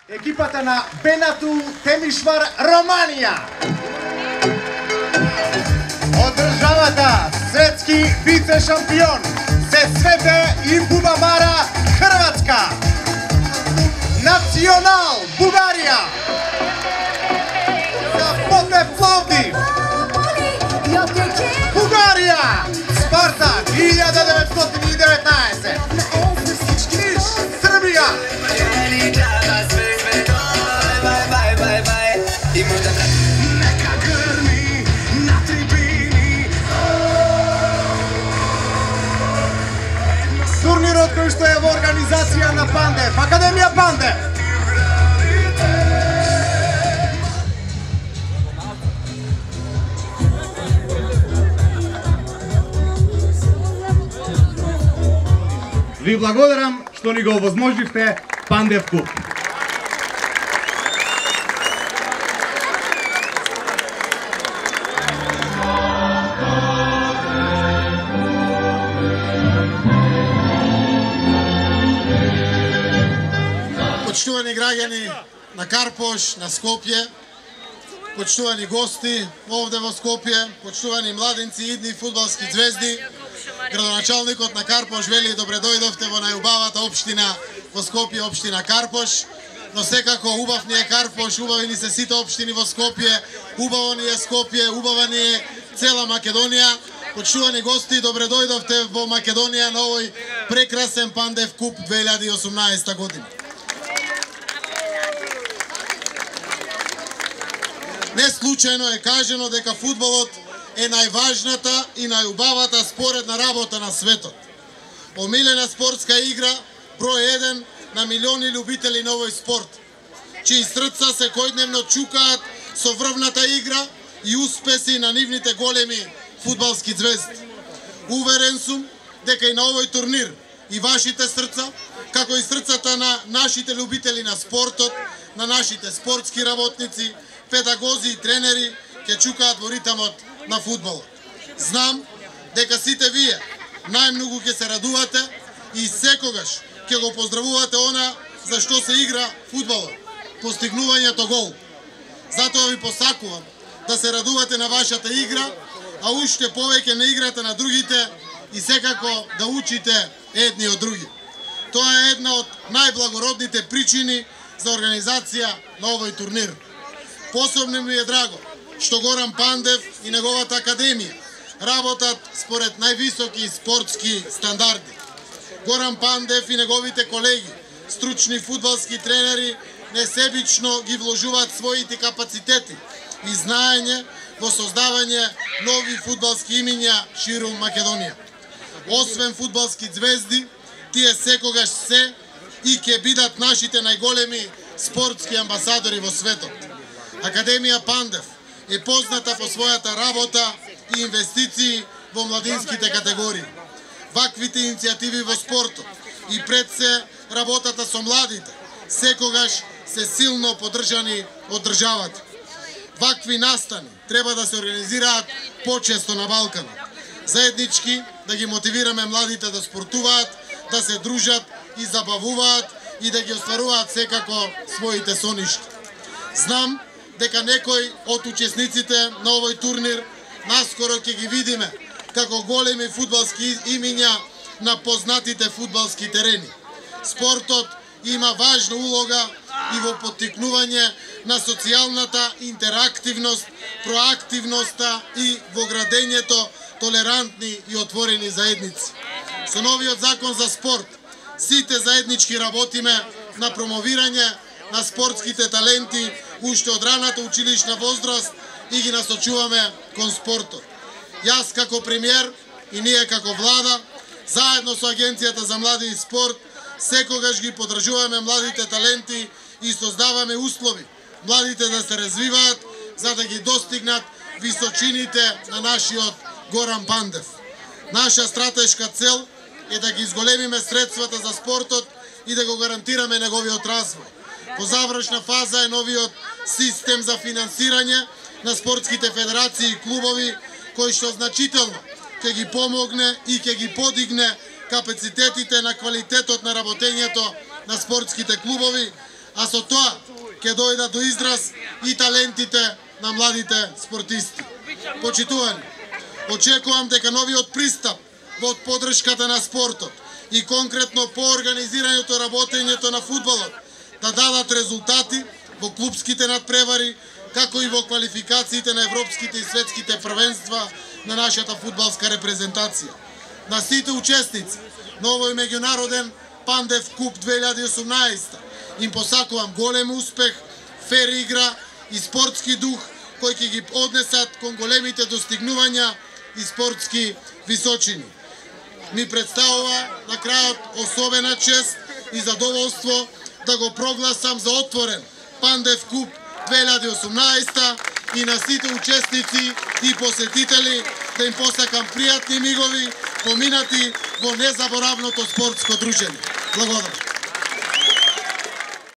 Екипата на Бенату Темишвар Романија. Од државата светски вице-шампион се Свете и Бубамара Хрватска. Национал Бугарија. За Ботев Пловдив. Бугарија. Спарта 1919. Ниш Србија. Турнирот кој што е во организација на Пандев, Академија Пандев. Ви благодарам што ни го овозможивте Пандев Куп. Почитувани граѓани на Карпош, на Скопје, почитувани гости овде во Скопје, почитувани младинци, идни фудбалски звезди, градоначалникот на Карпош вели добре дојдовте во најубавата општина во Скопје, општина Карпош, но секако убав ни е Карпош, убави ни се сите општини во Скопје, убаво ни е Скопје, убава ни е цела Македонија. Почитувани гости, добре дојдовте во Македонија на овој прекрасен Пандев Куп 2018 година. Не случајно е кажено дека фудбалот е најважната и најубавата споредна работа на светот. Омилена спортска игра, број 1 на милиони љубители на овој спорт, чии срца секојдневно чукаат со врвната игра и успеси на нивните големи фудбалски звезди. Уверен сум дека и на овој турнир и вашите срца, како и срцата на нашите љубители на спортот, на нашите спортски работници, педагози и тренери ќе чукаат во ритамот на фудбалот. Знам дека сите вие најмногу ќе се радувате и секогаш ќе го поздравувате она за што се игра фудбалот, постигнувањето гол. Затоа ви посакувам да се радувате на вашата игра, а уште повеќе на играта на другите и секако да учите едни од други. Тоа е една од најблагородните причини за организација на овој турнир. Посебно ми е драго што Горан Пандев и неговата академија работат според највисоки спортски стандарди. Горан Пандев и неговите колеги, стручни фудбалски тренери, несебично ги вложуваат своите капацитети и знаење во создавање нови фудбалски имиња ширум Македонија. Освен фудбалски звезди, тие секогаш се и ќе бидат нашите најголеми спортски амбасадори во светот. Академија Пандев е позната по својата работа и инвестиции во младинските категории. Ваквите иницијативи во спортот и пред се работата со младите секогаш се силно поддржани од државата. Вакви настани треба да се организираат почесто на Балканот. Заеднички да ги мотивираме младите да спортуваат, да се дружат и забавуваат и да ги остваруваат секако своите сонишки. Знам дека некои од учесниците на овој турнир наскоро ќе ги видиме како големи фудбалски имиња на познатите фудбалски терени. Спортот има важна улога и во поттикнување на социјалната интерактивност, проактивноста и во градењето толерантни и отворени заедници. Со новиот закон за спорт, сите заеднички работиме на промовирање на спортските таленти уште од раната училишна возраст и ги насочуваме кон спортот. Јас како премиер и ние како влада, заедно со Агенцијата за млади и спорт, секогаш ги поддржуваме младите таленти и создаваме услови младите да се развиваат за да ги достигнат височините на нашиот Горан Пандев. Наша стратешка цел е да ги изголемиме средствата за спортот и да го гарантираме неговиот развој. Во завршна фаза е новиот систем за финансирање на спортските федерации и клубови, кој што значително ќе ги помогне и ќе ги подигне капацитетите на квалитетот на работењето на спортските клубови, а со тоа ќе дојдат до израз и талентите на младите спортисти. Почитувани, очекувам дека новиот пристап во поддршката на спортот и конкретно по организирањето работењето на фудбалот да дадат резултати во клупските надпревари, како и во квалификациите на европските и светските првенства на нашата фудбалска репрезентација. На сите учесници на овој меѓународен Пандев Куп 2018 им посакувам голем успех, фер игра и спортски дух кои ќе ги однесат кон големите достигнувања и спортски височини. Ми представува на крајот особена чест и задоволство да го прогласам за отворен Пандев Куп 2018 и на сите учесници и посетители да им посакам пријатни мигови поминати во незаборавното спортско дружење. Благодарам.